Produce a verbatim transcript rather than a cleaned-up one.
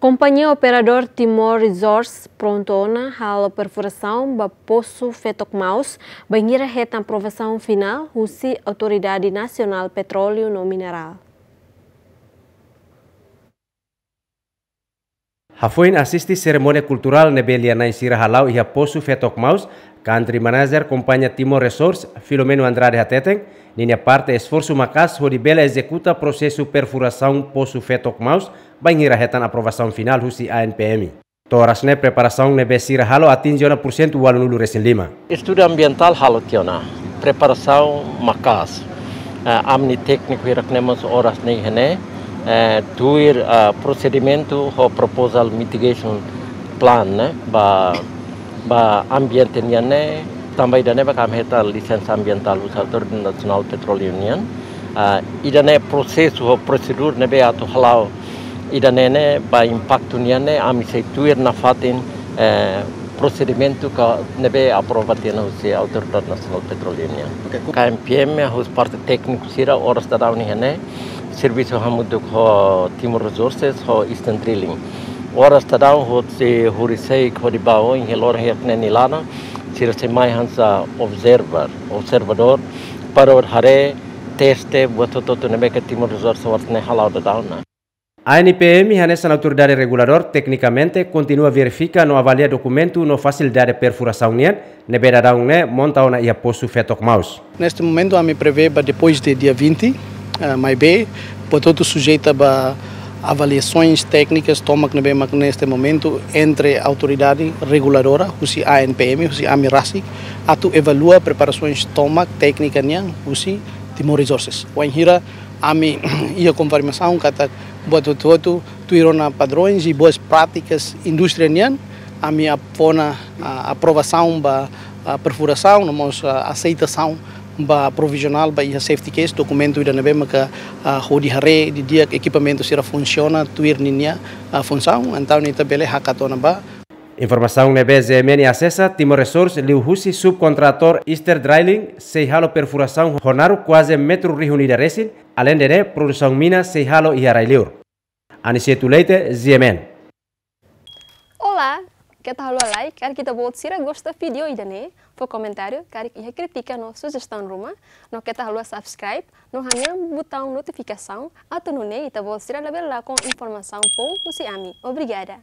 Kompañia operadór Timor Resources prontu ona halo perfurasaun ba posu Fetok Maus, bainhira hetan aprovasaun finál husi Autoridade Nasionál Petróleu no Minerál. Hafoin asiste serimónia kulturál ne'ebé lia-na'in sira hala'o iha posu Fetok Maus, Country Manager Kompañia Timor Resources, Filomeno Andrade hateten, ninia parte esforsu maka'as hodi bele ezekuta prosesu perfurasaun posu Fetok Maus, bainhira hetan aprovasaun finál husi A N P M. To'o oras ne'e preparasaun ne'ebé sira halo atinje ona pursentu ualunulu resin lima. Estudu ambientál halo tiha ona, preparasaun maka'as. Eh, ami-nia tékniku hirak ne'e mós oras ne'e iha ne'e, eh, tuir, eh, prosedimentu ho proposal mitigation plan ne'e, ba, ba ambiente nian ne'e, tanba ida-ne'e ba ami hetan lisensa ambientál husi Autoridade Nasionál Petróleu nian. Ah, ida-ne'e prosesu ho prosedura ne'ebé atu hala'o ida-ne'e ne'e ba impaktu nian ne'e ami sei tuir nafatin, eh, prosedimentu ka ne'ebé aprova tiha ona husi Autoridade Nasionál Petróleu nian. Oke, ku- K N P M husi parte tékniku sira oras daudaun iha ne'e servisu hamutuk ho Timor Resources ho Eastern Drilling. Oras daudaun husi horiseik hodi ba oin iha loron hirak ne'e nia laran sira sei mai hanesan observer, observadór, para hodi haree, teste buat hotu-hotu ne'ebé ke Timor Resources oras ne'e hala'o daudaun ona. A N P M hanesan autoridade reguladór teknikamente kontinua verifika no avalia dokumentu no fasilidade perfurasaun nian ne'ebé daudaun ne'e monta ona iha posu Fetok Maus. Neste momento, ami prevê ba depois de dia vinte, eh, maibé, portantu, sujeita ba avaliasoens téknikas tomak ne'ebé mak neste momento entre autoridade reguladora, husi A N P M, husi ami rasik, atu evalua preparasoens tomak téknika nian husi Timor Resources. Wainhira ami iha konfirmasaun katak buat hotu-hotu tuir ona padrões i boas práticas indústria nian, ami ap-, fó ona, ah, aprovasaun ba, ah, perfurasaun, no mós, ah, aseitasaun ba provizionál ba iha safety case, dokumentu ida ne'ebé maka, ah, hodi haree didi'ak ekipamentu sira funsiona tuir ninia, ah, funsaun, entaun ita bele hakat ona ba. Informasaun ne'ebé Z M N asesa, Timor Resources liuhusi subkontratór Eastern Drilling sei halo perfurasaun ho naruk kuaze metru rihun ida resin, aleinde ne'e produsaun mina sei halo iha rai-liur. Aniceto Leite, Z M N. Olá, keta haluha like, karik ita-boot sira gosta vídeo ida-ne'e, fó komentáriu, karik iha krítika no sujestaun ruma, no keta haluha subscribe, no hanehan butaun notifikasaun, atu nune'e ita-boot sira labele lakon informasaun foun husi ami. Obrigada.